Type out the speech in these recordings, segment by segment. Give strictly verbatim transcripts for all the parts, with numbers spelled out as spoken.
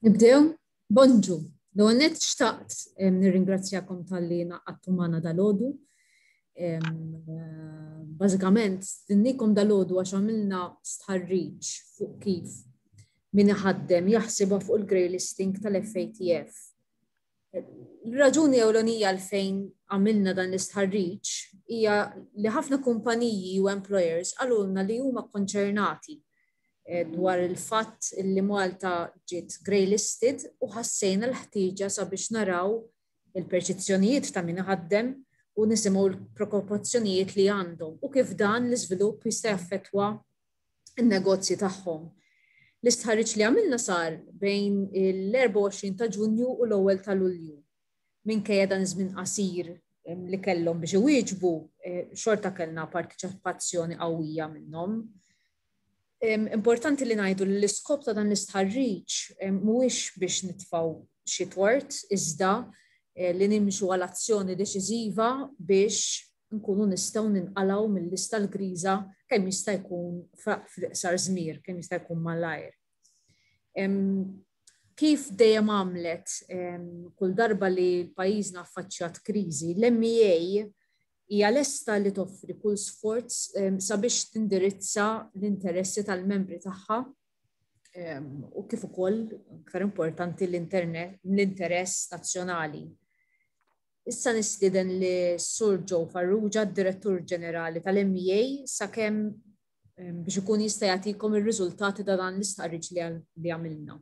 Nibdew? Bonġu. L-ewwel nett xtaqt nirringrazzjakom talli ngħaqadtu magħna dalgħodu. Bażikament, stedinniekom dalgħodu għax għamilna stħarriġ fuq kif min iħaddem jaħsibha fuq il-grey listing tal-F A T F. Il-raġuni ewlenija għalfejn għamilna dan l-istħarriġ hija li ħafna kumpaniji u employers qalulna li huma konċernati eh, dwar il-fatt li Malta ġiet grey listed u ħassejna l-ħtieġa sabiex naraw il-perċezzjonijiet ta' min ħaddem u nisimgħu l-preokkupazzjonijiet li għandhom u kif dan l-iżvilupp jista' jaffettwa n-negozji tagħhom. L-istħarriġ li għamilna sar bejn l-erbgħa u għoxrin ta' Ġunju u l-ewwel ta' Lulju. Minkejja dan iż-żmien qasir li kellhom biex iwieġbu, eh, xorta kellna partiċipazzjoni qawwija minnhom. Importanti li ngħidu li l-iskop ta' dan l-istħarriġ mhuwiex biex nitfgħu xi tort, iżda eh, li nimxu għal azzjoni deċiżiva biex nkunu nistgħu ninqalgħu mill-lista l-griża kemm jista' jkun fl-iqsar żmien, kemm jista' jkun malajr. Kif dejjem għamlet kull darba li l-pajjiżna affaċċjat kriżi, l-M E A hija lesta li toffri kull sforz sabiex tindirizza l-interessi tal-membri tagħha u kif ukoll, aktar importanti, l-interess nazzjonali. Issa nistieden lis-Sur Joe Farrugia, Direttur Ġenerali tal-M E A, sakemm biex ikun jista' jagħtikom ir-riżultati ta' dan l-istħarriġ li għamilna.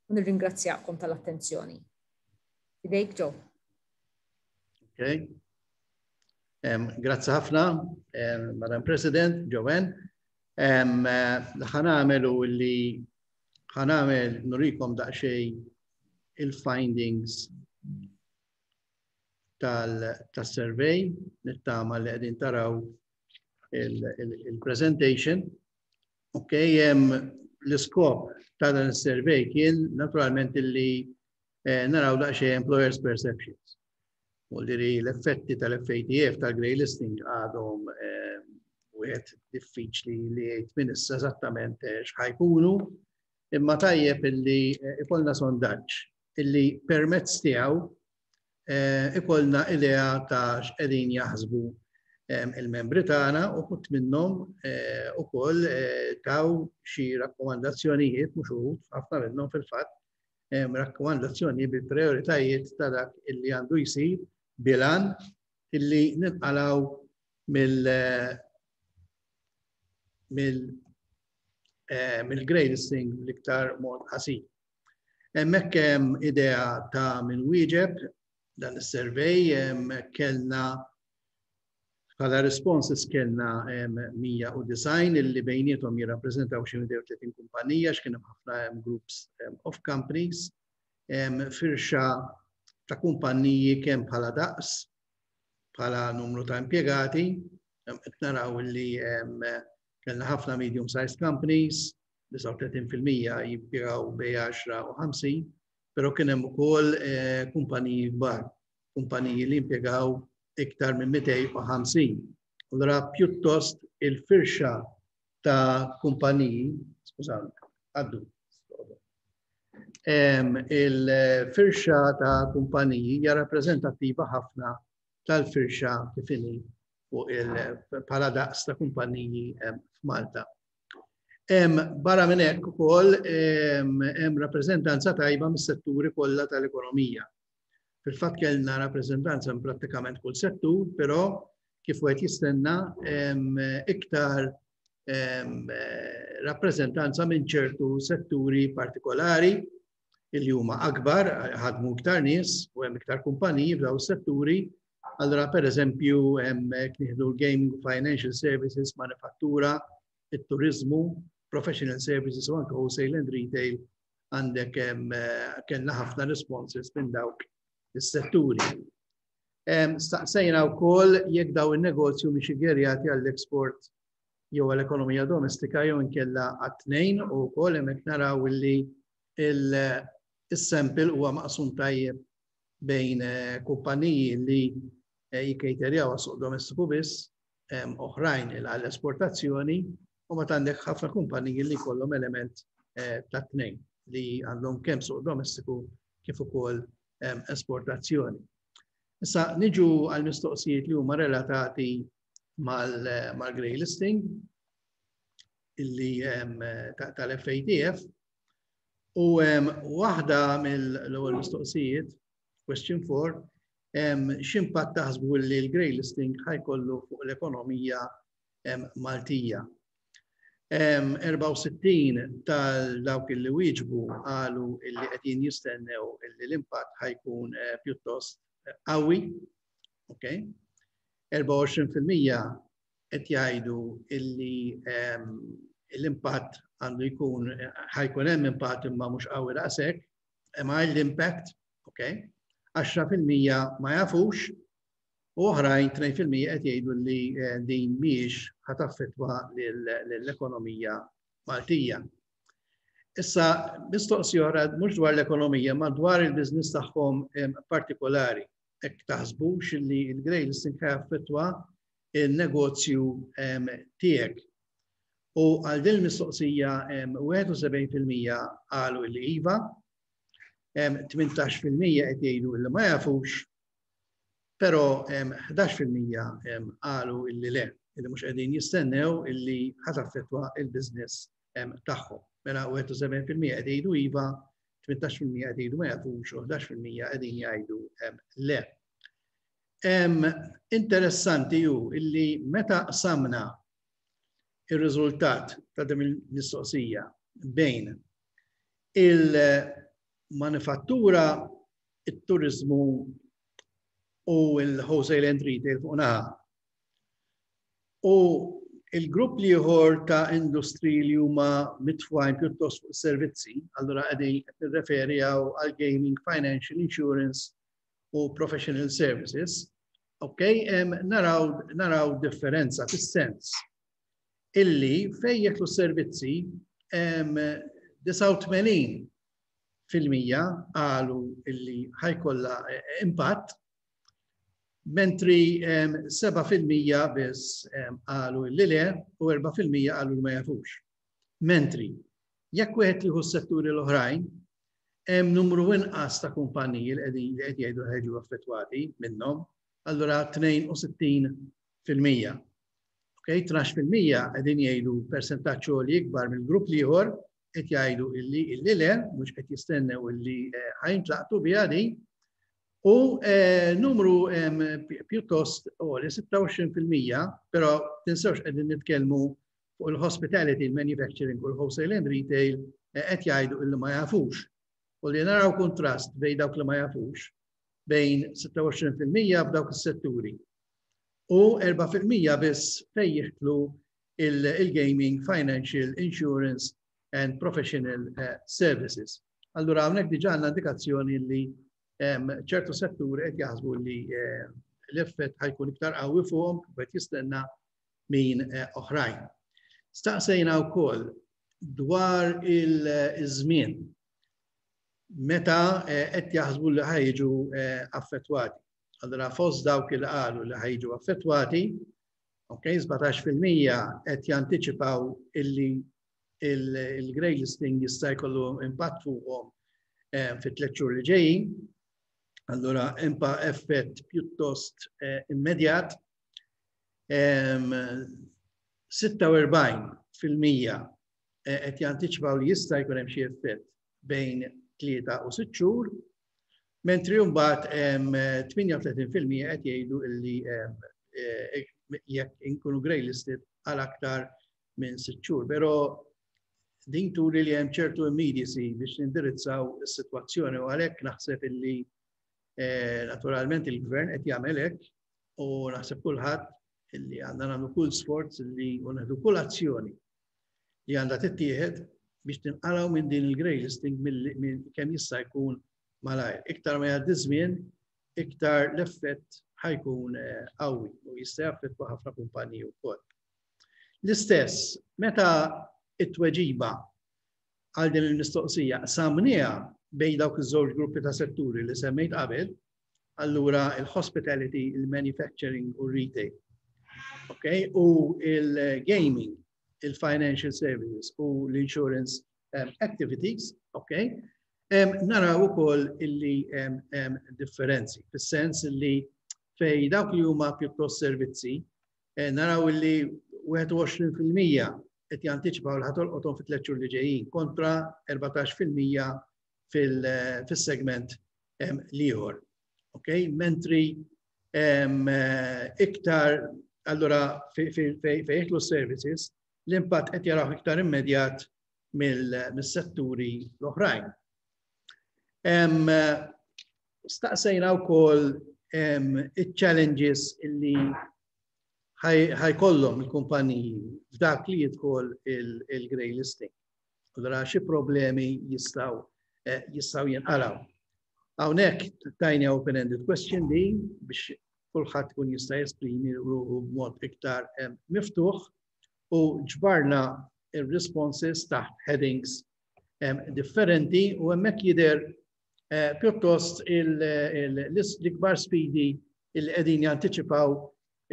U nirringrazzjakom tal-attenzjoni. Idejk, Joe. Okay. Um, grazzi ħafna, um, Madam President, Joanne. Um, ħa nagħmel u li ħa nagħmel nurikom daqsxejn il-findings tal-survey, nittama li qegħdin taraw il-presentation. Ok, l-iskop ta' dan il-survey kien naturalment illi eh, naraw daqsxejn employers' perceptions. U li l-effetti tal-F A T F tal-grey listing għadhom eh, wieħed diffiċli li jgħid minn issa eżattament eh, x'ħa jkunu, imma tajjeb illi ikollna sondaġġ illi permezz tiegħu ikollna idea ta' x'qegħdin jaħsbu il-membri tagħna, u uħud minnhom ukoll taw xi rakkomandazzjonijiet, mhux uħud, ħafna minnhom fil-fatt, rakkomandazzjoni bil-prioritajiet ta' dak illi għandu jsir bil-għan illi ninqalgħu mill mill mill-grey listing l-iktar mod qasir. Hemmhekk hemm idea ta' min wieġeb dan is-survey. Kellna bħala responses kellna mija u disgħin illi bejniethom jirrappreżentaw xi tletin kumpanija, x'kien hemm ħafna groups of companies, firxa ta' kumpaniji kemm bħala daqs, bħala numru ta' impjegati, qed naraw illi kellna ħafna medium sized companies, disgħa u tletin fil-mija jimpjegaw bejn għaxra u ħamsin, però kien hemm ukoll eh, kumpaniji kbar, kumpaniji li impjegaw iktar minn mitejn u ħamsin. Allora pjuttost il-firxa ta' kumpaniji, skużawni, għaddu, il-firxa ta' kumpaniji hija rappreżentattiva ħafna tal-firxa kif inhi fuq il-bħala daqs ta' kumpaniji f'Malta. Barra minn hekk ukoll hemm rappreżentanza tajba mis-setturi kollha tal-ekonomija. Fil-fatt kellna rappreżentanza minn prattikament kull settur, però kif wieħed jistenna iktar rappreżentanza minn ċertu setturi partikolari illi huma akbar, ħadmu iktar nies u hemm iktar kumpaniji f'dawn is-setturi. Allora, per eżempju, hemm nieħdu l-gaming, financial services, manifattura, it-turizmu, professional services u anke wholesale and retail, għandek kellna ħafna responses minn dawk is-setturi. Staqsejna wkoll jekk daw in-negozju mhix iggirjati għall-export jew għall-ekonomija domestika jew inkella għat-tnejn, u wkoll hemmhekk naraw illi il-sample huwa maqsum tajjeb bejn eh, kumpaniji li eh, jikkejterjaw għas-suq domestiku biss, oħrajn għall-esportazzjoni, u ma għandek ħafna kumpaniji li kollhom element eh, ta' tnejn. li għandhom kemm suq domestiku kif ukoll esportazzjoni. Issa niġu għal mistoqsijiet li huma relatati mal-grey listing illi tal-F A T F u waħda mill-ewwel mistoqsijiet, question four, x'impatt taħsbu li l-grey listing ħa jkollu fuq l-ekonomija Maltija? erbgħa u sittin tal-dawk li wieġbu qalu illi qegħdin jistennew illi l-impatt ħa jkun eh, pjuttost qawwi. Okay? erbgħa u għoxrin fil-mija qed jgħidu illi l-impatt għandu jkun, ħa jkun hemm impatt imma mhux qawwi daqshekk, mild impact, okay? għaxra fil-mija ma jafux u oħrajn tnejn fil-mija qed jgħidu li eh, din mhijiex ħa taffettwa l-ekonomija Maltija. Issa, mistoqsija oħra mhux dwar l-ekonomija, ma dwar il-biznis tagħhom partikolari. Jekk taħsbux li il-grey listing ħa jaffettwa il-negozju tiegħek? U għal din il-mistoqsija wieħed u sebgħin fil-mija qalu li iva, tmintax fil-mija qed jgħidu li ma jafux, però ħdax fil-mija qalu illi le, illi mhux qegħdin jistennew illi ħa taffettwa il-business tagħhom. Mela wieħed u sebgħin fil-mija qed jgħidu iva, tmintax fil-mija qed jgħidu ma jafux u ħdax fil-mija qegħdin jgħidu le. Interessanti ju illi meta qsamna il-riżultat ta' din il-mistoqsija bejn il-manifattura, il-turizmu u il-wholesale and retail fuq naħa u il-grupp l-ieħor ta' industri li huma mitfugħin pjuttost fuq servizzi, allura qegħdin qed nirreferi għal gaming, financial, insurance u professional services, ok, naraw, naraw differenza fis-sens illi fejn jidħlu servizzi disgħa u tmenin fil-mija qalu illi ħa jkollha impatt, mentri seba' fil-mija biss qalu illi le u erbgħa fil-mija qalu li ma jafux. Mentri, jekk wieħed jieħu s-setturi l-oħrajn, hemm numru inqas ta' kumpaniji li qegħdin li qed jgħidu ħa jiġu affettwati minnhom, allura tnejn u sittin fil-mija. Ok, tnax fil-mija qegħdin jgħidu persentaġġ li ikbar mill-grupp l-ieħor qed jgħidu illi illi le, mhux qed jistennew illi eh, ħa jintlaqtu biha din. U eh, numru pjuttost għoli, sitta u għoxrin fil-mija, però tinsewx qegħdin nitkellmu fuq il-hospitality, il-manufacturing u l-wholesale and retail, eh, qed jgħidu illi ma jafux. U li naraw kontrast bejn dawk li ma jafux, bejn sitta u għoxrin fil-mija f'dawk is-setturi u erbgħa fil-mija biss fejn jidħlu il-gaming, financial, insurance and professional eh, services. Allura hawnhekk diġà għandna indikazzjoni li ċertu setturi qed jaħsbu li eh, l-effett ħa jkun iktar qawwi fuqhom, qed jistenna minn eh, oħrajn. Staqsejna wkoll dwar il-żmien meta qed jaħsbu li ħa jiġu affettwati. Allura fost dawk li qalu li ħa jiġu affettwati, ok, sbatax fil-mija qed jantiċipaw illi il-grey listing jista' jkollu impatt fuqhom eh, fit tliet xhur li ġejjin. Allura impa effett pjuttost eh, immedjat. sitta u erbgħin fil-mija eh, qed jantiċipaw li jista' jkun hemm xi effett bejn tlieta u sitt xhur, mentri mbagħad tmienja u tletin fil-mija qed jgħidu illi jekk inkunu grey listed għal aktar minn sitt xhur. Però din turi li hemm ċertu immediacy biex nindirizzaw is-sitwazzjoni u għalhekk naħseb illi eh, naturalment il-gvern qed jagħmel hekk u naħseb kulħadd illi għandna nagħmlu kull sforz illi u nieħdu kull azzjoni li għandha tittieħed biex tinqalgħu minn din il-grey listing minn kemm jista' jkun malajr. Iktar ma jgħaddi żmien, iktar l-effett ħa jkun eh, qawwi u jista' jaffettwa ħafna kumpaniji wkoll. L-istess, meta it-tweġiba għal din il-mistoqsija qsamnieha bejn dawk iż-żewġ gruppi ta' setturi li semmejt qabel, allura il-hospitality, il-manufacturing u retail. Okay? U il-gaming, il-financial services u l-insurance um, activities, Okay? Naraw ukoll illi hemm differenzi, fis-sens illi fej dawk li huma pjuttost servizzi, eh, naraw illi wieħed u għoxrin fil-mija qed jantiċipaw li ħa tolqothom fit-tliet xhur li ġejjin kontra erbatax fil-mija fil-segment l-ieħor. Okay? Mentri iktar allura fejn jidħlu services, l-impatt qed jaraw iktar immedjat mill-setturi l-oħrajn. Staqsejna wkoll il-challenges illi ħa jkollhom il-kumpaniji f'dak li jidħol il-grey listing. Allura xi problemi jistgħu eh, jistgħu jinqalgħu? Hawnhekk tajna open-ended question din biex kulħadd kun jista' jesprimi ruħu b'mod iktar miftuħ u ġbarna il-responses taħt headings differenti u hemmhekk jidher eh, pjuttost l-ikbar sfidi il qegħdin jantiċipaw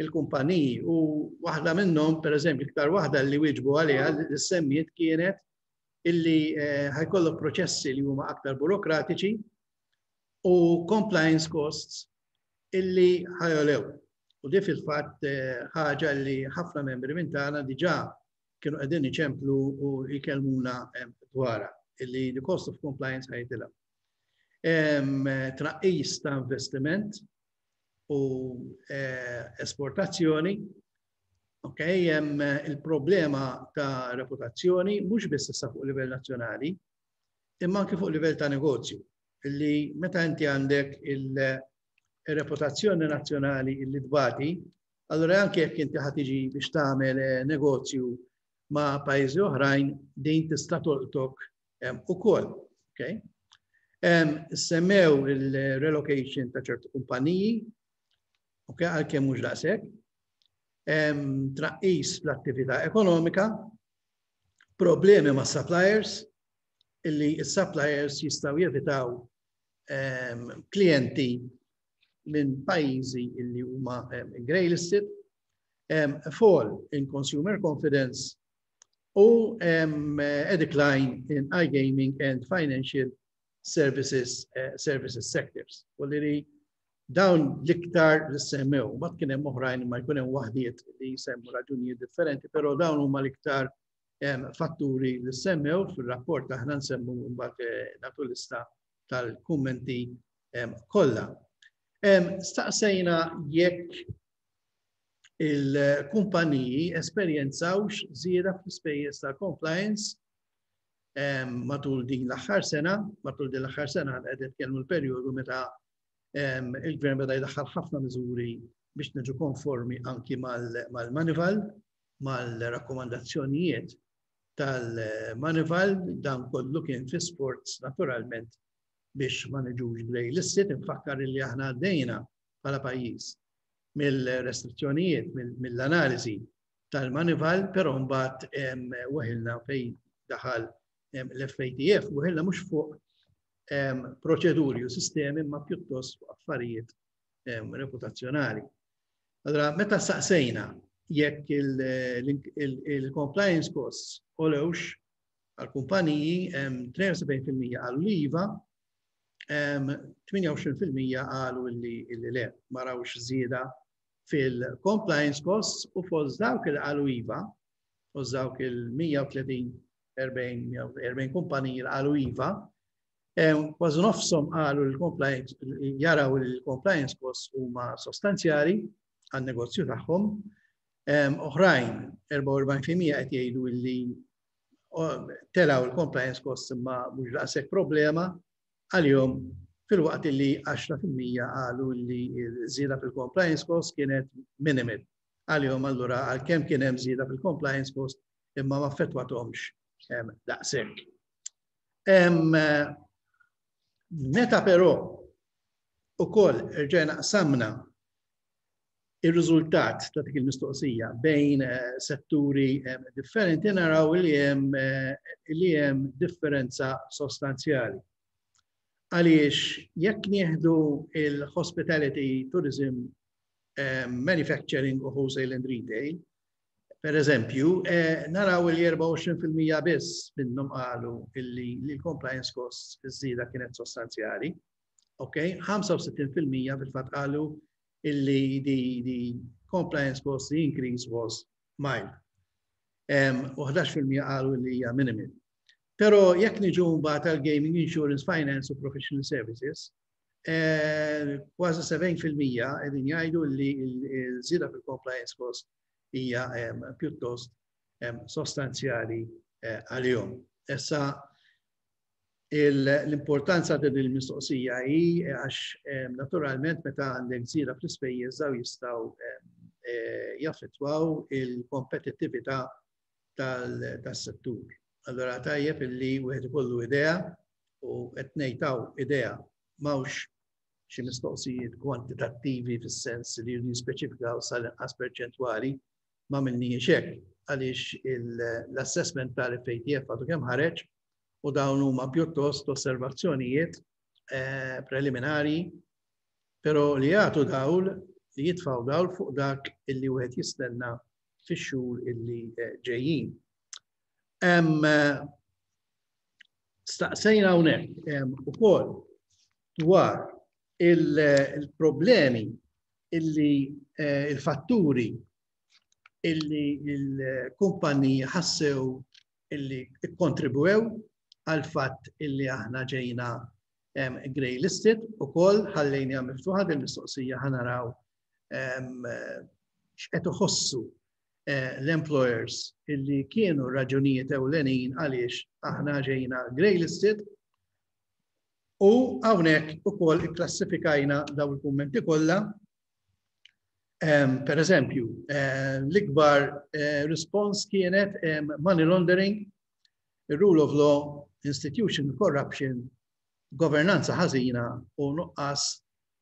il-kumpaniji, u waħda minnhom, per eżempju, iktar waħda li wieġbu għaliha li semmiet kienet illi eh, ħa jkollok proċessi li huma aktar burokratiċi u compliance costs illi ħa jogħlew. U di fil-fatt eh, ħaġa li ħafna membri minn tagħna diġà kienu qegħdin iċemplu u jkellmuna dwarha, illi the cost of compliance ħa jitla'. Tnaqqis ta' investiment u eh, esportazzjoni, ok, hemm il-problema ta' reputazzjoni mhux biss issa fuq livell nazzjonali, imma anke fuq livell ta' negozju, illi meta inti għandek il-reputazzjoni nazzjonali illi tbati, allura anke jekk inti ħa tiġi biex tagħmel eh, negozju ma' pajjiżi oħrajn, din tista' tolqtok ukoll. Okay? Semmew il-relocation ta' ċertu kumpaniji, okay, għalkemm mhux daqshekk, tnaqqis fl-attività ekonomika, problemi ma' suppliers, illi il-suppliers jistgħu jevitaw klienti minn pajjiżi illi huma grey listed, fall in consumer confidence u a decline in iGaming and financial services, uh, services sectors. U li dawn l-iktar li semmew, ma kien hemm oħrajn, ma jkun hemm waħdiet li jsemmu raġunijiet differenti, però dawn huma l-iktar fatturi li semmew fil-rapport. Aħna nsemmu mbagħad eh, nagħtu lista tal-kummenti kollha. Staqsejna jekk il-kumpaniji esperjenzawx żieda fl-ispejjeż ta' compliance matul din l-aħħar sena. Matul din l-aħħar sena qed nitkellmu l-perjodu meta il-gvern beda jdaħħal ħafna miżuri biex niġu konformi anki mal-Moneyval, mal-rakkomandazzjonijiet tal-Moneyval. Dan kollu kien fi sforz naturalment biex ma niġux grey listed. Infakkar li aħna għaddejna bħala pajjiż mill-restrizzjonijiet, mill-analiżi tal-Moneyval, però mbagħad weħilna fejn daħal l-F A T F, weħilna mhux fuq proċeduri u sistemi ma pjuttost fuq affarijiet reputazzjonali. Allora, meta saqsejna jekk il-compliance costs għolewx għal-kumpaniji, tnejn u sebgħin fil-mija qalu iva, tmienja u għoxrin fil-mija qalu illi le, ma rawx żieda fil-compliance costs, u fost dawk il qalu iva, fost dawk il-mija u tletin, erbgħin kumpaniji li qalu iva, kważi nofshom qalu l-compliance, jaraw il-compliance costs huma sostanzjali għan-negozju tagħhom. Oħrajn, erbgħa u erbgħin fil-mija qed jgħidu li telgħu il-compliance costs imma mhux daqshekk problema għalihom, filwaqt li għaxra fil-mija qalu li żieda fil-compliance cost kienet minimal għalihom, allura għalkemm kien hemm żieda fil-compliance cost imma ma affettwathomx daqshekk. Meta però ukoll rġajna qsamna il-riżultat ta' dik il-mistoqsija bejn eh, setturi eh, differenti, naraw li hemm eh, li hemm differenza sostanzjali. Għaliex jekk nieħdu il-hospitality, tourism, manufacturing u wholesale and retail, Per eżempju, eh, naraw li erbgħa u għoxrin fil-mija biss minnhom qalu illi l-compliance costs iż-żieda kienet sostanzjali. Ok, ħamsa u sittin fil-mija fil-fatt qalu illi the, the compliance cost, the increase was mild. U ħdax fil-mija qalu li hija minimal. Pero jekk niġu mbagħad għal gaming, insurance, finance u professional services, eh, kważi sebgħin fil-mija qegħdin jgħidu li l-żieda fil-compliance cost hija pjuttost sostanzjali eh, għalihom. Issa l-importanza ta' din il-mistoqsija hi għax naturalment meta għandek żieda fl-ispejjeż, daw jistgħu eh, jaffettwaw il-kompetittività tas-settur. Allora tajjeb illi wieħed ikollu idea, u qed ngħid idea, m'hawnx xi mistoqsijiet kwantitattivi fis-sens li jispeċifikaw sal-inqas perċentwali, ma għamilniex hekk għaliex l-assessment tal-F A T F għadu kemm ħareġ u dawn huma pjuttost osservazzjonijiet eh, preliminari, pero li jagħtu dawl, li jitfaw dawl fuq dak illi wieħed jistenna fix-xhur illi eh, ġejjin. Eh, staqsejna hawnhekk ukoll dwar il-problemi illi il-fatturi illi il-kumpaniji ħassew illi kontribwew għal fatt illi aħna ġejna grey listed. Ukoll ħallejna miftuħa il-mistoqsija, ħa naraw x'qed iħossu eh, l-employers illi kienu raġunijiet ewlenin għaliex aħna ġejna grey listed, u hawnhekk ukoll ikklassifikajna daw il-kummenti kollha. Per eżempju, eh, l-ikbar eh, response kienet money laundering, rule of law, institution corruption, governanza ħażina u nuqqas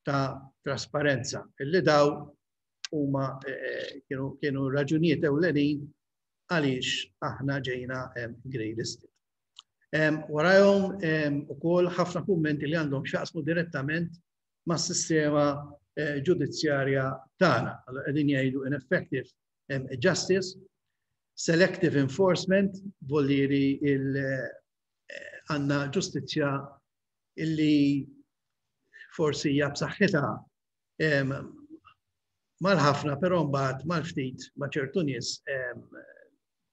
ta' trasparenza. Illi daw huma eh, kienu, kienu raġunijiet ewlenin għaliex aħna ġejna grey listed. Warajhom ukoll ħafna kummenti li għandhom x'jaqsmu direttament mas-sistema eh, ġudizzjarja tagħna. Qegħdin jgħidu ineffective justice, selective enforcement, voldiri il eh, għandna ġustizzja illi forsi hija b'saħħitha mal-ħafna, però mbagħad mal-ftit, ma' ċertu nies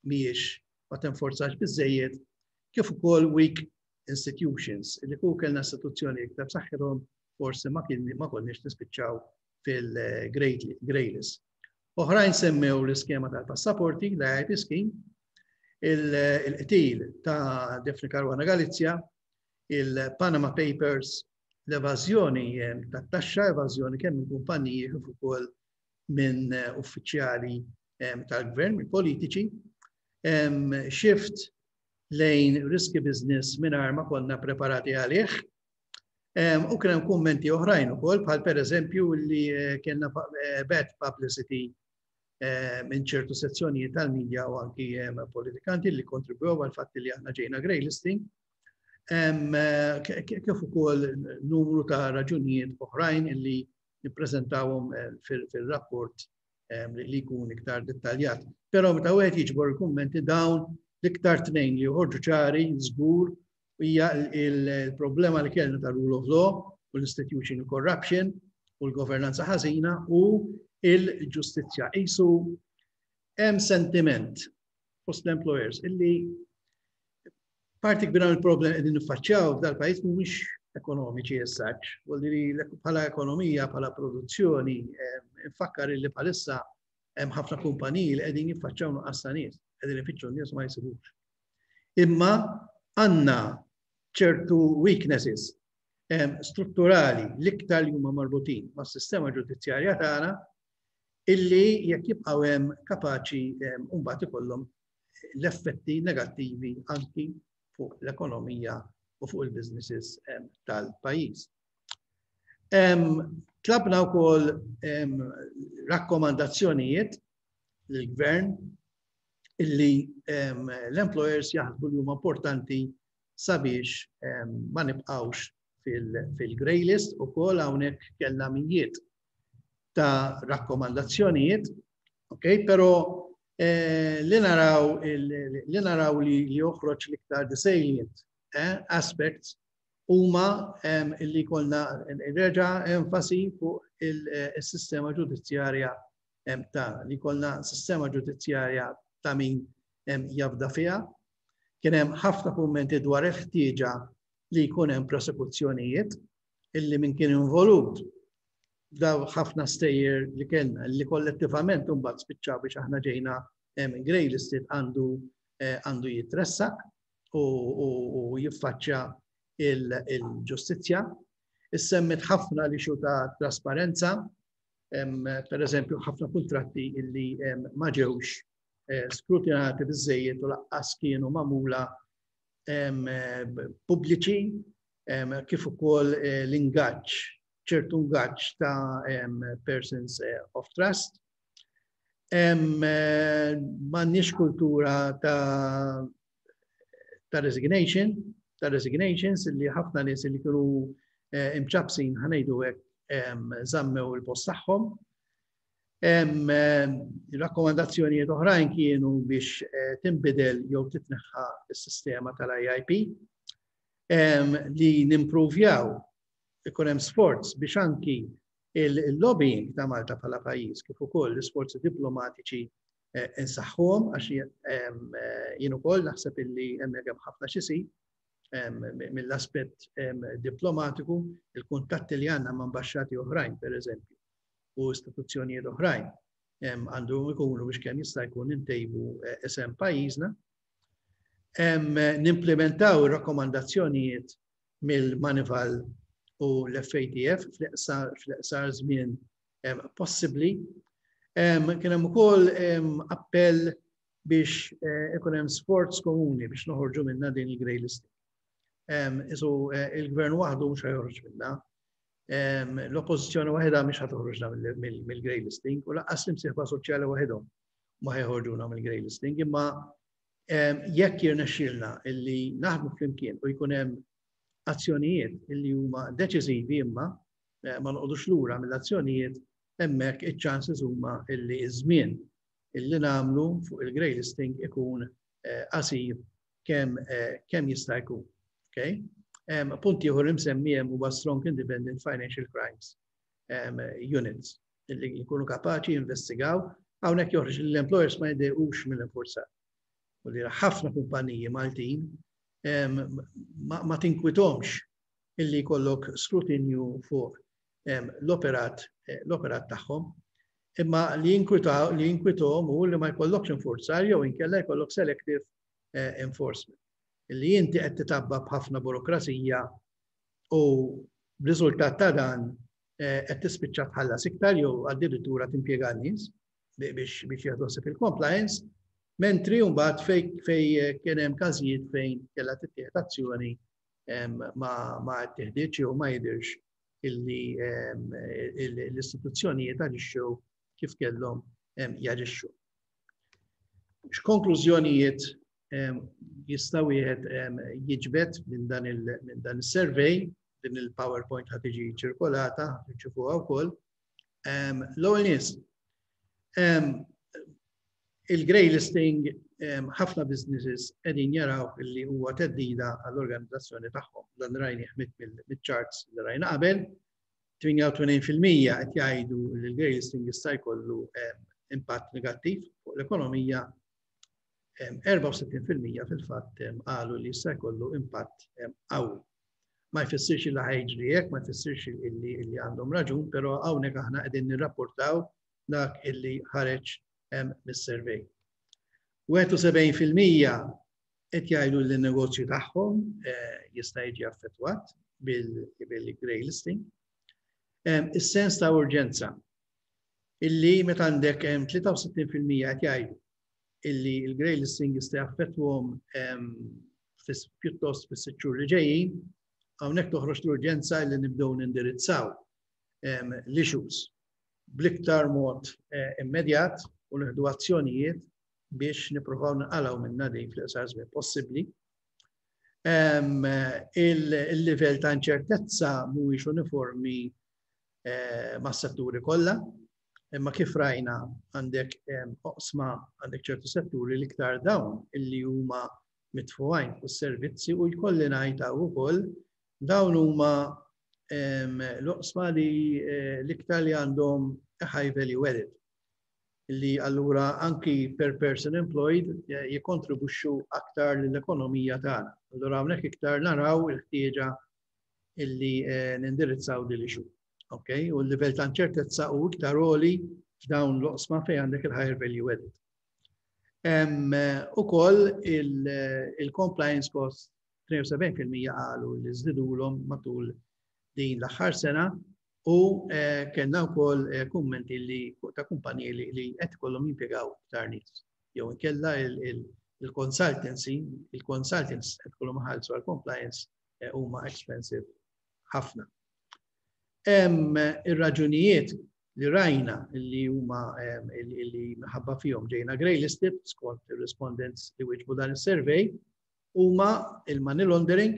mhijiex, ma tenforzax biżejjed, kif ukoll weak institutions, li kieku kellna istituzzjoni iktar b'saħħithom forsi ma kien ma konniex nispiċċaw fil-grey list. Oħrajn semmew l-iskema tal-passaporti, l-I I P scheme, il-qtil ta' Daphne Caruana Galizia, il-Panama Papers, l-evażjoni ta' taxxa, evażjoni kemm minn kumpaniji kif ukoll minn uffiċjali tal-gvern, minn politiċi, shift lejn risky business mingħajr ma konna preparati għalih. U kien hemm kummenti oħrajn ukoll, bħal per eżempju li eh, kellna eh, bad publicity eh, minn ċertu sezzjonijiet tal-medja u anki politikanti li kontribwew għal fatt li aħna ġejna grey listing. Kif ukoll numru ta' raġunijiet oħrajn illi nippreżentawhom fil-rapport li jkun iktar dettaljat. Però meta wieħed jiġbor il-kummenti, dawn l-iktar tnejn li joħorġu ċari żgur hija il-problema li kellna ta' rule of law u l-institutional corruption u l-governanza ħażina u il-ġustizzja. Isu hemm sentiment fost l-employers illi parti kbira mill-problem qegħdin niffaċċjaw f'dal-pajjiż mhumiex ekonomiċi essaċ, li bħala ekonomija, bħala produzzjoni, nfakkar illi bħalissa hemm ħafna kumpaniji li qegħdin jiffaċċjaw nuqqas ta' nies, qegħdin ifittxu nies, ma jsibux. Imma għandna ċertu weaknesses strutturali, l-iktar li huma marbutin mas-sistema ġudizzjarja tagħna, illi jekk jibqgħu hemm kapaċi mbagħad ikollhom l-effetti negattivi anki fuq l-ekonomija u fuq il-businesses tal-pajjiż. Tlabna wkoll rakkomandazzjonijiet lill-gvern illi l-employers jaħsbu li huma importanti sabiex ma nibqawx fil-grey list. Ukoll hawnhekk kellna mijiet ta' rakkomandazzjonijiet, ok, pero Eh, li naraw li naraw li joħroġ l-iktar the salient eh, aspects huma illi kellna reġa' enfasi fuq il-sistema ġudizzjarja tagħna, li kellna sistema ġudizzjarja ta' min jafda fiha. Kien hemm ħafna kummenti dwar il-ħtieġa li jkun hemm prosekuzzjonijiet illi min kien involut daw ħafna stejjer li kellna li kollettivament mbagħad spiċċaw biex aħna ġejna grey listed, għandu eh, għandu jitressaq u jiffaċċja il-ġustizzja. Issemmit ħafna li ta' trasparenza, per eżempju, ħafna kontratti illi ma ġewx eh, skrutinati biżejjed u lanqas kienu magħmula pubbliċi, kif ukoll eh, l-ingaġġ, ċertu ingaġġ ta' persons eh, of trust. M'għandniex kultura ta' ta' resignation, ta' resignations, li ħafna nies li kienu eh, imċapsin, ħa ngħidu hekk, żammew il-post tagħhom. Rakkomandazzjonijiet oħrajn kienu biex eh, tinbidel jew titneħħa s-sistema tal-I I P, li nimprovjaw ikun hemm sforz biex anki il-lobbying ta' Malta bħala pajjiż kif ukoll l-isforzi diplomatiċi eh, insaħħuhom, għax eh, jien ukoll naħseb illi hemmhekk hemm ħafna x'isir mill-aspett diplomatiku, il-kuntatti li għandna ma' ambaxxati oħrajn, per eżempju, u istituzzjonijiet oħrajn għandu ikunu biex kemm jista' jkun intejbu eh, isem pajjiżna. Nimplementaw ir-rakkomandazzjonijiet mill-Moneyval u l-F A T F fl-iqsar żmien possibbli. Kien hemm ukoll appell biex eh, ikun hemm sforz komuni biex noħorġu minna din il-grey list. Isu eh, il-gvern waħdu mhux joħroġ minna. L-oppożizzjoni waħedha mhix ħa toħroġna mill-grey listing u lanqas l-imsieħba soċjali waħedhom ma ħa joħorġuna mill-grey listing, imma jekk jirnexxielna illi naħdmu flimkien u jkun hemm azzjonijiet illi huma deċiżivi imma eh, ma noqogħdux lura mill-azzjonijiet, hemmhekk iċ-chances huma illi iż-żmien illi nagħmlu fuq il-grey listing ikun eh, qasir kemm eh, kemm jista' jkun. Okay? Punt ieħor imsemmi hemm huwa strong independent financial crimes units illi jkunu kapaċi jinvestigaw. Hawnhekk joħroġ li l-employers ma jdejqux mill-infurzar. U li ħafna kumpaniji Maltin ma tinkwitomx illi jkollok skrutinju fuq l-operat eh, l-operat tagħhom. Imma li jinkwitaw li jinkwithom u li ma jkollokx infurzar jew inkella jkollok selective eh, enforcement. Illi inti qed titgħabba b'ħafna burokrazija u b'riżultat ta' dan eh, qed tispiċċa tħallas iktar jew addirittura timpjega n-nies biex biex jieħdu il-compliance, mentri mbagħad fej fej kien hemm każijiet fejn kellha tittieħed azzjoni ma ma ttieħditx jew ma jidhirx illi l-istituzzjonijiet aġixxew kif kellhom jaġixxu. X'konklużjonijiet jista' wieħed jiġbed minn dan il-survey? Din il-PowerPoint ħa tiġi ċirkolata, tirċivuha wkoll. L-ewwel nies, il-grey listing, ħafna businesses qegħdin jaraw illi huwa theddida għall-organizzazzjoni tagħhom. Dan rajnieh mill-charts li rajna qabel. tmienja u tmenin fil-mija qed jgħidu li l-grey listing jista' jkollu impatt negattiv fuq l-ekonomija, erbgħa u sittin fil-mija fil-fatt qalu li jista' jkollu impatt qawwi. Ma jfissirx li ħa jiġri hekk, ma jfissirx illi illi għandhom raġun, però hawnhekk aħna qegħdin nirrapportaw dak illi ħareġ mis-survey. wieħed u sebgħin fil-mija qed jgħidu li n-negozju tagħhom eh, jista' jiġi affettwat bil-grey listing. Is-sens ta' urġenza illi meta għandek tlieta u sittin fil-mija qed jgħidu illi il-grey listing jista' jaffettwahom pjuttost fis-sitt xhur li ġejjin, hawnhekk toħroġ l-urġenza illi nibdew nindirizzaw l-issues bl-iktar mod eh, immedjat u nieħdu azzjonijiet biex nippruvaw naqalgħu minna din fl-iqsar żmien possibbli. Il-livell ta' inċertezza mhuwiex uniformi eh, mas-setturi kollha. Imma kif rajna, għandek oqsma, għandek ċertu setturi, l-iktar dawn illi huma mitfugħin u servizzi, u jkolli ngħid ukoll dawn huma l-oqsma li eh, l-iktar li għandhom high value added, li allura anki per person employed eh, jikontribuxxu aktar l-ekonomija tagħna. Allura hawnhekk iktar naraw il-ħtieġa illi eh, nindirizzaw din l-issue. Ok, u l-livell ta' inċertezza hu iktar għoli f'dawn l-oqsma fejn għandek il-higher value added. Ukoll il-compliance cost, tnejn u sebgħin fil-mija qalu li żdidulhom matul din l-aħħar sena u eh, kellna wkoll eh, kummenti li ta' kumpaniji li qed ikollhom jimpjegaw iktar nies. Jew inkella il-consultancy, il-consultants qed ikollhom iħallsu għal compliance eh, huma expensive ħafna. Hemm ir-raġunijiet li rajna li huma li minħabba fihom ġejna grey listed skont ir-respondents li wieġbu dan is-survey huma il-money laundering,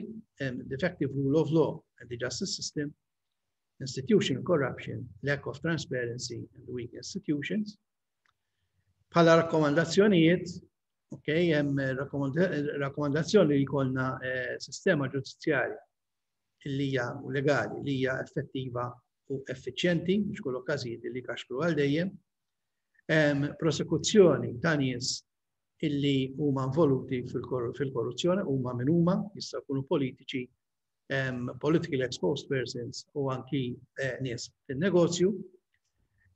defective rule of law and the justice system, institutional corruption, lack of transparency and weak institutions. Bħala rakkomandazzjonijiet, ok, hemm rakkomandazzjoni li jkollna eh, sistema ġudizzjarja li hija u legali li hija effettiva u effiċjenti, mhux kull okkażijiet li kaxkru għal dejjem. Prosekuzzjoni ta' nies illi huma involuti fil-korruzzjoni, huma min huma, jista' jkunu politiċi, um, politically exposed persons u anki eh, nies fil-negozju.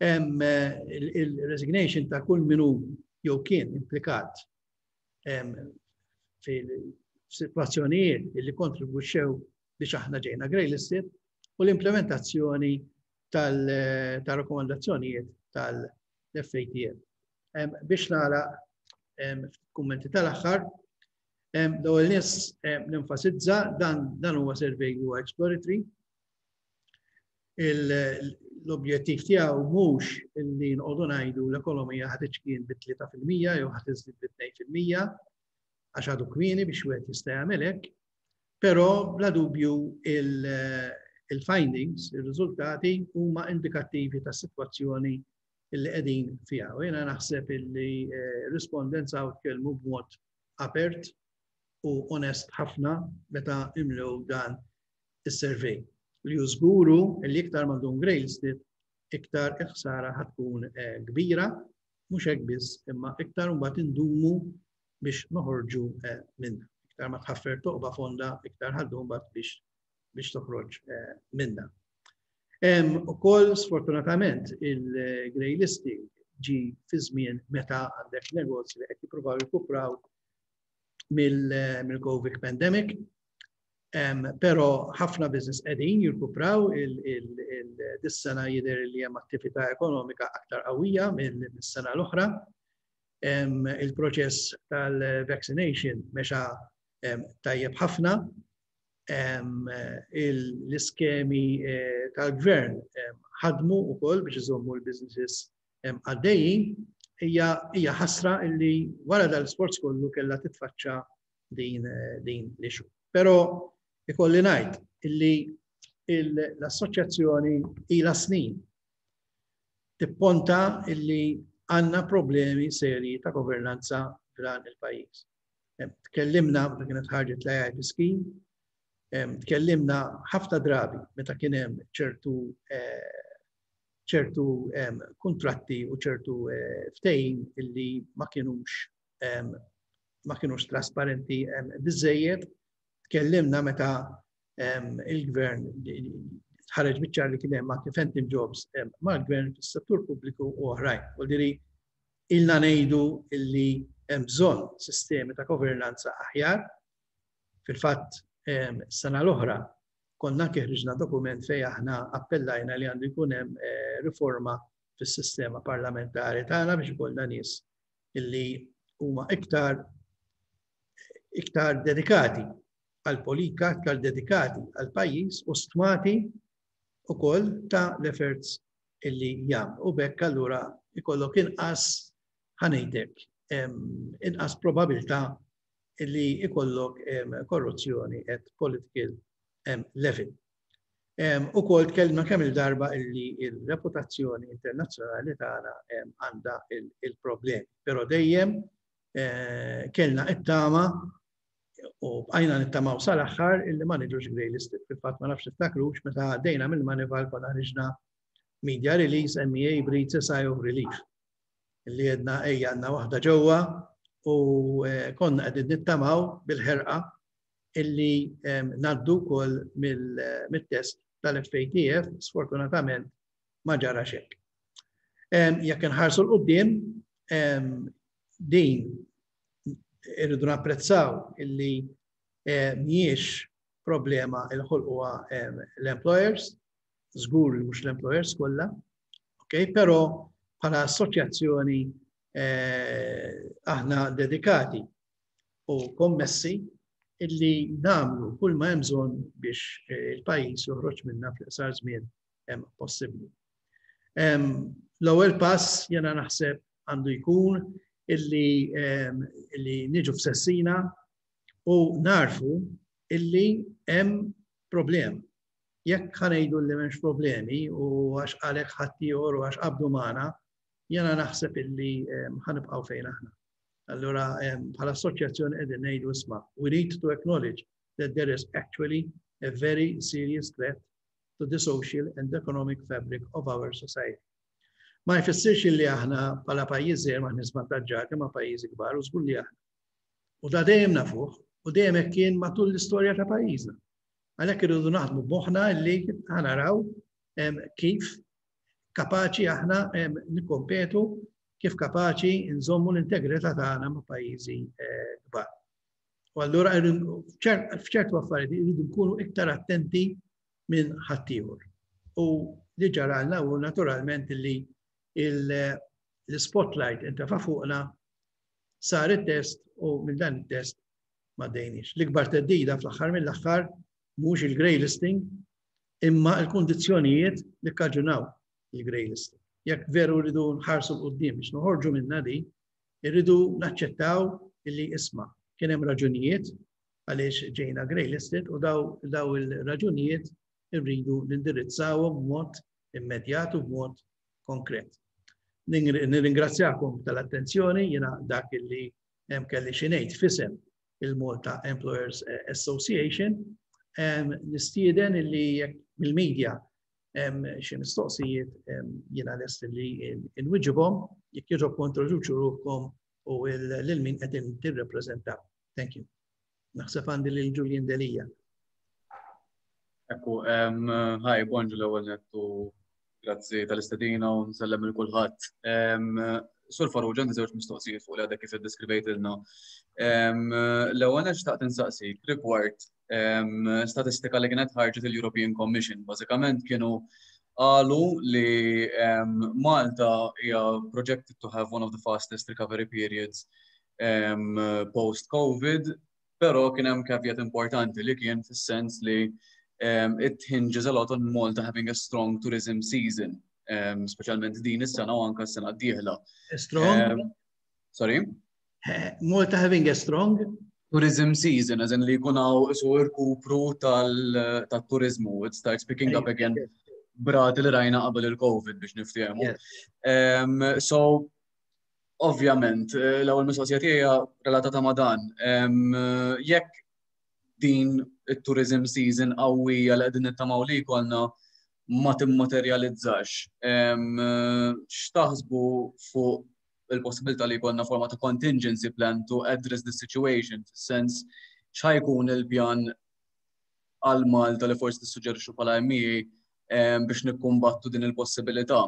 Um, Il-resignation ta' kull min hu jew kien implikat um, fil-situazzjonijiet illi kontribwixxew biex aħna ġejna grey listed u l-implementazzjoni tal-rakkomandazzjonijiet tal-F A T F. Biex nagħlaq, kummenti tal-aħħar, l-ewwel nett nenfasizza dan dan huwa survey li huwa exploratory. L-objettiv tiegħu mhux illi nqogħdu ngħidu l-ekonomija ħa tiċkien bi tlieta fil-mija jew ħa tiżdied bi tnejn fil-mija, għax għadu kmieni biex wieħed jista' jagħmel hekk, però bla dubju il-findings, il-riżultati huma indikattivi ta' situazzjoni illi qegħdin fiha. U jiena naħseb illi eh, respondents hawn tkellmu b'mod apert u onest ħafna meta imlew dan is-survey. Li żguru li iktar ma ndum grey listed, iktar il-ħsara ħa tkun eh, kbira, mhux hekk biss, imma iktar mbagħad indumu biex noħorġu eh, minna. Iktar ma tħaffer toqba fonda, iktar ħa ddum mbagħad biex biex toħroġ eh, minna. Ukoll, sfortunatament, il-grey listing ġi fi żmien meta għandek negozji li qed jippruvaw jirkupraw mill-Covid pandemic. Però ħafna business qegħdin jirkupraw. Dis-sena jidher li hemm attività ekonomika aktar qawwija mill-sena l-oħra. Il-proċess tal-vaccination mexa tajjeb ħafna. L-iskemi eh, tal-gvern ħadmu ukoll biex iżommu l-businesses għaddejjin. Hija ħasra illi wara dal-sforz kollu kellha titfaċċa din din l-issue. Però ikolli ngħid illi l-assoċjazzjoni ila snin tipponta illi għandna problemi seri ta' governanza f'dan il-pajjiż. Tkellimna meta kienet ħarġet l-I I P scheme, tkellimna ħafna drabi meta kien hemm ċertu eh, ċertu kontratti u ċertu eh, ftehim illi ma kienux ma kienux trasparenti biżejjed. Tkellimna meta il-gvern ħareġ biċ-ċar li kien hemm anke phantom jobs mal-gvern fis-settur pubbliku u oħrajn. U diri ilna ngħidu illi hemm bżonn sistemi ta' governanza aħjar. Fil-fatt, sena l-oħra konna anke ħriġna dokument fej aħna appellajna li għandu jkun hemm eh, riforma fis-sistema parlamentari tagħna biex ikollna nies illi huma iktar iktar dedikati għal politika, iktar dedikati għal pajjiż u stmati ukoll ta' l-efforts illi jagħmlu. U b'hekk allura ikollok inqas, ħa ngħidlek, inqas probabilità illi ikollok korruzzjoni at political level. Ukoll tkellimna kemm il-darba illi il-reputazzjoni internazzjonali tagħna għandha il-problemi. Però dejjem eh, kellna it-tama u bqajna nittamaw sal-aħħar illi ma niġux grey listed. Fil-fatt, ma nafx tiftakrux meta għaddejna mill-Moneyval, konna ħriġna media release, "M E A breathes a sigh of relief." Illi għedna ejja, għandna waħda ġewwa u eh, konna qegħdin nittamaw bil-ħerqa illi ngħaddu wkoll mill-test tal-F A T F. Sfortunatament ma ġara hekk. Jekk nħarsu 'l quddiem, din irridu napprezzaw illi mhijiex problema il ħolquha l-employers, żgur li mhux l-employers kollha, ok, però bħala assoċjazzjoni eh, aħna dedikati u kommessi illi nagħmlu kull ma hemm bżonn biex eh, il-pajjiż joħroġ minna fl-iqsar żmien hemm possibbli. L-ewwel pass jena naħseb għandu jkun illi, illi niġu f'sensina u narfu illi hemm problem. Jekk ħa ngħidu li m'hemmx problemi u għax għalek ħaddieħor u għax qabdu magħna, jena naħseb illi ħa nibqgħu fejn aħna. Allura, bħala assoċjazzjoni qegħdin ngħidu, isma', we need to acknowledge that there is actually a very serious threat to the social and economic fabric of our society. Ma jfissirx li aħna bħala pajjiż ma żvantaġġati ma' pajjiżi kbar, u żgur li aħna. U da dejjem nafuh u dejjem hekk kien matul l-istorja ta' pajjiżna. Għalhekk irridu naħdmu b'moħħna li ħa naraw kif kapaċi aħna nikkompetu, kif kapaċi nżommu l-integrità tagħna ma' pajjiżi eh, kbar. U allura f'ċertu affarijiet irridu nkunu iktar attenti minn ħaddieħor. U li ġaralna u naturalment li l-spotlight intefa' fuqna, sar it-test u minn dan it-test ma għaddejniex. L-ikbar theddida fl-aħħar mill-aħħar mhux il-grey listing imma l-kundizzjonijiet li kkaġunaw il-grey listing. Jekk veru rridu nħarsu 'l quddiem biex noħorġu minna di, irridu naċċettaw illi, isma', kien hemm raġunijiet għaliex ġejna grey listed u daw, daw il-raġunijiet irridu nindirizzawhom b'mod immedjat u b'mod konkret. Nirringrazzjakom tal-attenzjoni. Jiena dak illi hemm kelli xi ngħid f'isem il-Malta Employers Association. Nistieden illi jekk mill-media xi mistoqsijiet, jiena lest li nwiġibhom. Jekk jogħġobkom introduċu ruħkom u lil min qed tirrepreżentaw. Thank you. Naħseb għandi lil Julian Delia. Ekku, hi, bonġu l-ewwel nett u grazzi tal-istedina u nsellem lil kulħadd. Sur Farrugia, għandi żewġ mistoqsijiet fuq li għadek kif iddeskrivejtilna. L-ewwel nett xtaqt insaqsik rigward statistika li kienet ħarġet il-European Commission. Bażikament kienu qalu li Malta hija projected to have one of the fastest recovery periods um, post-COVID, pero kien hemm caveat importanti li kien fis-sens li um, it hinges a lot on Malta having a strong tourism season, um, speċjalment din is-sena u anka s-sena d-dieħla. Strong? Um, sorry? Malta having a strong? Tourism season, as in li jkun hawn isu irkupru tal-turizmu, it starts picking up again b'rati li rajna qabel il-COVID, biex niftehmu. Um, so, ovvjament, l-ewwel mistoqsija tiegħi relatata ma' dan. Um, jekk din it-tourism season qawwija li qegħdin nittamaw li jkollna ma timmaterjalizzax, um, x'taħsbu fuq il-possibilità li jkollna forma ta' contingency plan to address the situation, fis-sens x'ħa jkun il-pjan għal Malta li forsi tissuġġerixxu bħala M E A biex nikkumbattu din il-possibilità?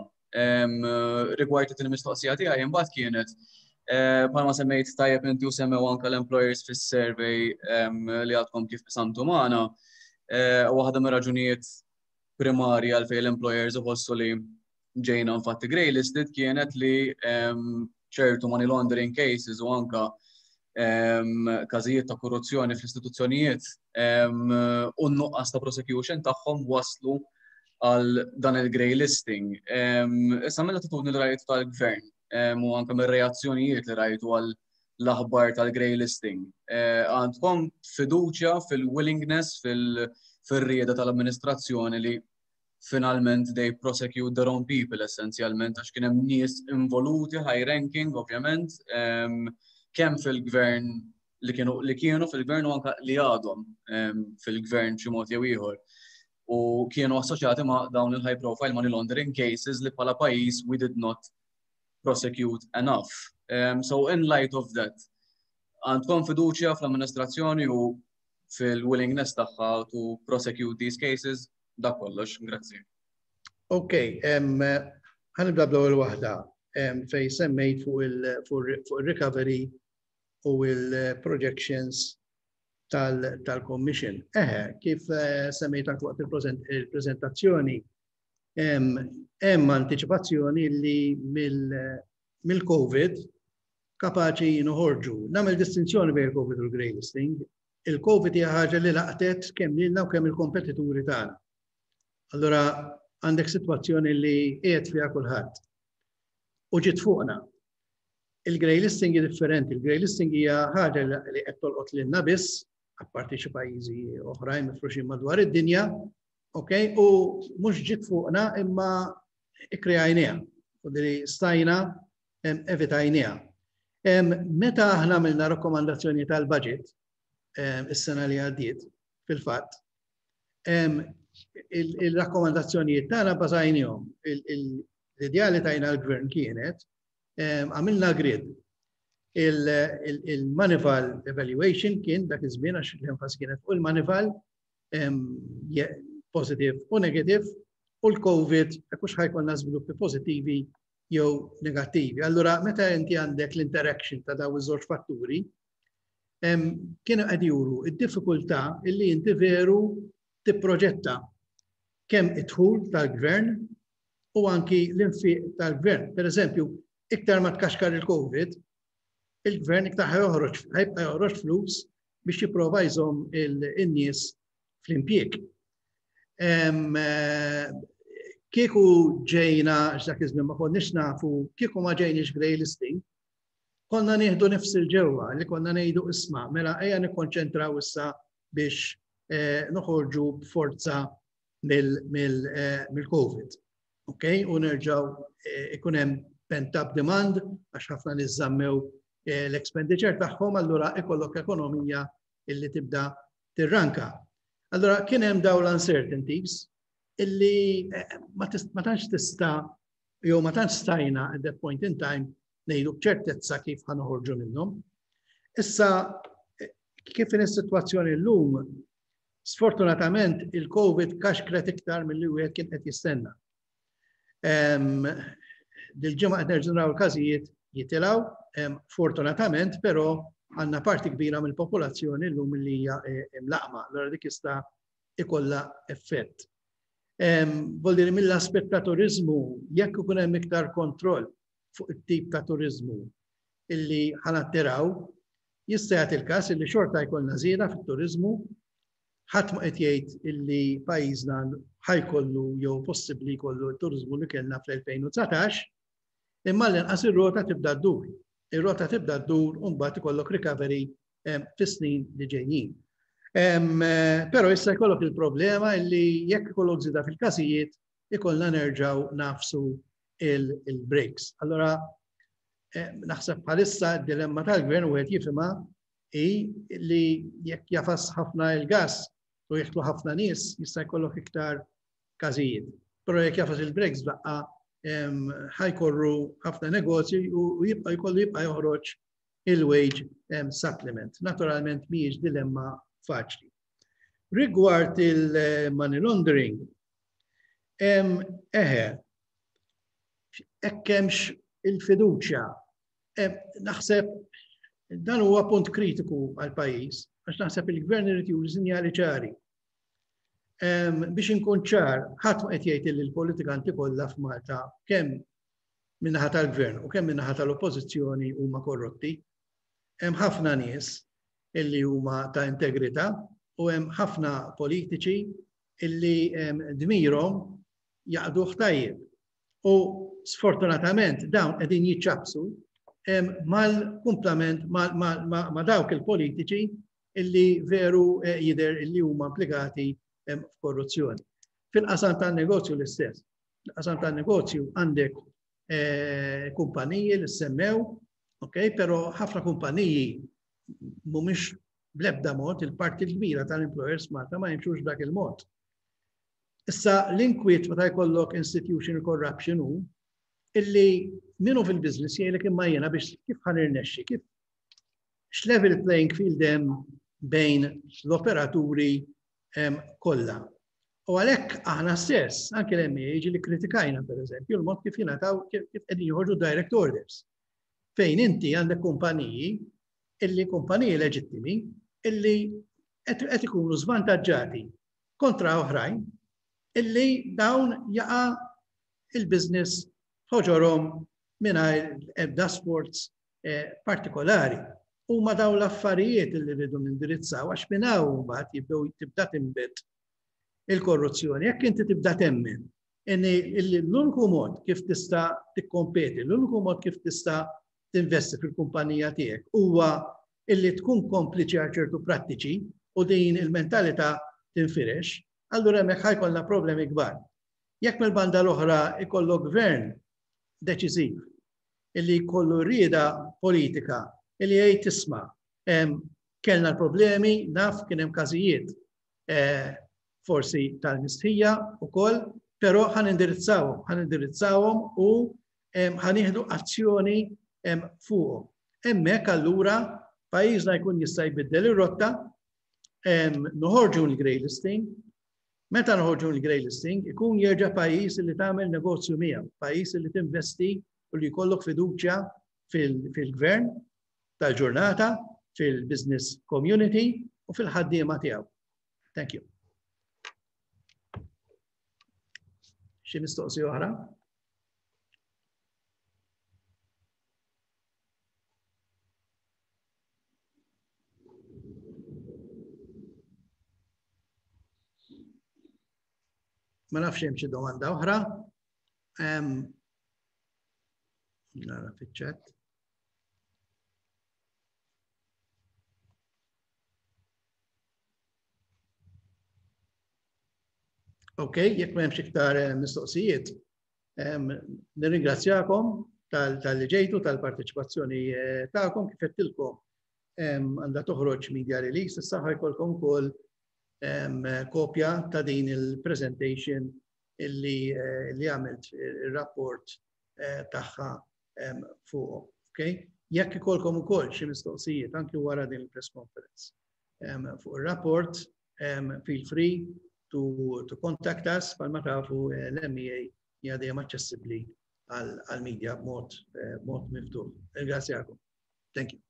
Rigward it mistoqsija tiegħi imbagħad kienet eh, bħalma semmejt tajjeb inti u semmew anke l-employers fis-survey li għadkom kif qsamtu magħna, eh, waħda mir-raġunijiet primarji għalfejn l-employers uħossu li ġejna infatti grey listed kienet li ċertu money laundering cases u anka każijiet ta' korruzzjoni fl-istituzzjonijiet u n-nuqqas ta' prosecution tagħhom waslu għal dan il-grey listing. Issa mill-attitudni li rajtu tal-gvern u anka mir-reazzjonijiet li rajtu għal l-aħbar tal-grey listing, eh, għandkom fiduċja fil-willingness, fir-rieda tal-amministrazzjoni li finalment they prosecute their own people, essenzjalment, għax kien hemm nies involuti high ranking, ovvjament, kemm fil-gvern li kienu li kienu fil-gvern u anka li għadhom fil-gvern xi mod jew ieħor. U kienu assoċjati ma' dawn il-high profile money laundering cases li bħala pajjiż we did not prosecute enough. Um, so in light of that, għandkom fiduċja fl-amministrazzjoni u fil-willingness tagħha to prosecute these cases? Dak kollox, grazzi. Ok, ħa nibda bl-ewwel waħda fej semmejt fuq il-recovery u il-projections tal-Commission. Eħe, kif eh, semmejt anke waqt il-prezentazzjoni, hemm anticipazzjoni li mill-Covid kapaċi noħorġu. Nagħmel distinzjoni bejn il-Covid u l-grey listing. Il-Covid hija ħaġa li laqtet kemm lilna u kemm il-kompetituri tagħna. Allora għandek sitwazzjoni li qiegħed fiha kulħadd. U ġiet fuqna. Il-grey listing hi differenti. Il-grey listing hija ħaġa li qed tolqot lilna biss, apparti xi pajjiżi oħrajn mifruxin madwar id-dinja, ok? U mhux ġiet fuqna, imma ikkreajniha. U li stajna evitajniha. Meta aħna għamilna rakkomandazzjoni tal-budget is-sena li għaddiet, fil-fatt, il-rakkomandazzjonijiet tagħna bażajnihom. L-idea li tajna l-gvern kienet għamilna grid. Il-Moneyval evaluation kien dak iż-żmien, għax l-enfasi kienet fuq il-Moneyval, positive u negative, u l-Covid, jekk hux ħa jkollna żviluppi pożittivi jew negattivi. Allura, meta inti għandek l-interaction ta' daw iż-żewġ fatturi, kienu qed juru id-diffikultà illi inti veru tipproġetta kemm id-dħul tal-gvern u anki l-infiq tal-gvern. Per eżempju, iktar ma tkaxkar il-Covid, il-gvern iktar ħa joħroġ, ħa jibqa' joħroġ flus biex jipprova jżomm il-nies fl-impjieg. Eh, kieku ġejna, x'dak iż-żmien ma konniex nafu, kieku ma ġejniex grey listing, konna nieħdu nifs il-ġewwa li konna ngħidu, "Isma', mela ejja nikkonċentraw issa biex eh, noħorġu b'forza mill-Covid." Eh, ok, u nerġaw ikun hemm pent-up demand għax ħafna nies żammew l-expenditure tagħhom, allura ikollok ekonomija illi tibda tirranka. Allora kien hemm dawn l-uncertainties illi eh, ma tantx tista' jew ma tantx stajna at that point in time ngħidu b'ċertezza kif ħa noħorġu minnhom. Issa, eh, kif in is-sitwazzjoni llum, sfortunatament il-Covid kaxkret iktar milli wieħed kien qed jistenna. Dil-ġimgħa qed nerġgħu naraw il-każijiet jitilgħu, fortunatament però għandna parti kbira mill-popolazzjoni llum li hija eh, imlaqma, allura dik jista' ikollha effett. Vuol mill-aspett ta' turizmu, jekk ikun hemm iktar kontroll fuq it-tip ta' turizmu illi ħa nattiraw, jista' jagħti il-każ illi xorta jkollna żieda fit-turizmu. Ħadd ma qed jgħid illi pajjiżna ħa jkollu jew possibbli jkollu t-turizmu li kellna fl-elfejn u dsatax, imma l-inqas ir-rota tibda ddur. Ir-rota tibda ddur u mbagħad ikollok recovery fis-snin li ġejjin. Però issa jkollok il-problema illi jekk ikollok żieda fil-każijiet, ikollna nerġaw nagħfsu il-brakes. Allora, naħseb bħalissa d-dilemma tal-gvern, u qed jifhimha, i li jekk jagħfas ħafna il-gas u jidħlu ħafna nies, jista' jkollok iktar każijiet. Però jekk jagħfas il-brakes daqqa, ħa jkorru ħafna negozji u jibqa' jkollu jibqa' joħroġ il-wage supplement. Naturalment mhijiex dilemma faċli. Rigward il-money laundering, eħe, jekk hemmx il-fiduċja, naħseb dan huwa punt kritiku għal pajjiż, għax naħseb il-gvern irid juri sinjali ċari. Biex inkun ċar, ħadd ma qed jgħid li l-politikanti kollha f'Malta, kemm min-naħa tal-gvern u kemm min-naħa tal-oppożizzjoni, huma korrotti. Hemm ħafna nies illi huma ta' integrità u hemm ħafna politiċi illi dmirhom jaqduh tajjeb. U sfortunatament dawn qegħdin jiċċabsu mal-kumplament ma' dawk il-politiċi illi veru eh, jidher illi huma implikati f'korruzzjoni. Fil-qasam tan-negozju l-istess. Fil-qasam tan-negozju għandek eh, kumpaniji li semmew, ok, però ħafna kumpaniji mhumiex bl-ebda mod, il-parti l-kbira tal-employers Malta ma jimxux dak il-mod. Issa l-inkwiet meta jkollok institutional corruption hu illi minnu fil-business jgħidlek imma jiena biex kif ħa nirnexxi, kif x'level playing field hemm bejn l-operaturi kollha. U għalhekk aħna stess, anke l-M E A ġieli kritikajna, per eżempju, l-mod kif jingħataw, kif qegħdin joħorġu direct orders. Fejn inti għandek kumpaniji illi kumpaniji leġittimi illi qed ikunu żvantaġġati kontra oħrajn illi dawn jaqa' il-business ħoġorhom mingħajr ebda sforz eh, partikolari. Huma dawn l-affarijiet illi rridu nindirizzaw, għax minn hawn mbagħad jibdew tibda tinbet il-korruzzjoni. Jekk inti tibda temmen illi l-uniku mod kif tista' tikkompeti, l-uniku mod kif tista' tinvesti fil-kumpanija tiegħek huwa illi tkun kompliċi għal ċertu prattiċi u din il-mentalità tinfirex, allura hemmhekk ħa jkollna problemi kbar. Jekk mill-banda l-oħra ikollok gvern deċiżiv illi jkollu rieda politika illi jgħid, "Isma', kellna l-problemi, naf kien hemm każijiet eh, forsi tal-mistħija ukoll, però ħa nindirizzawhom, ħa nindirizzawhom u ħa nieħdu azzjoni fuqhom." Hemmhekk allura pajjiżna jkun jista' jbiddel ir-rotta, noħorġu l-grey listing. Meta noħorġu l-grey listing, ikun jerġa' pajjiż li tagħmel negozju miegħu, pajjiż li tinvesti u li jkollok fiduċja fil-gvern tal-ġurnata, fil-business community u fil-ħaddiema tiegħu. Thank you. Xi mistoqsija oħra? Ma nafx hemm xi domanda oħra. Nara fiċ-chat. Ok, jekk m'hemmx iktar eh, mistoqsijiet, nirringrazzjakom talli ġejtu, tal-parteċipazzjoni eh, tagħkom. Kif għedtilkom, għandha toħroġ media release, issa ħa jkollkom ukoll kopja ta' din il-presentation illi eh, li għamilt il-rapport tagħha fuq. Okay? Jekk ikollkom ukoll xi mistoqsijiet anki wara din il-press conference fuq il-rapport, feel free to, to contact us. Bħalma tafu, eh, l-M E A hija dejjem aċċessibbli għal-media b'mod eh, mod miftuħ. Ringrazzjakom. Thank you.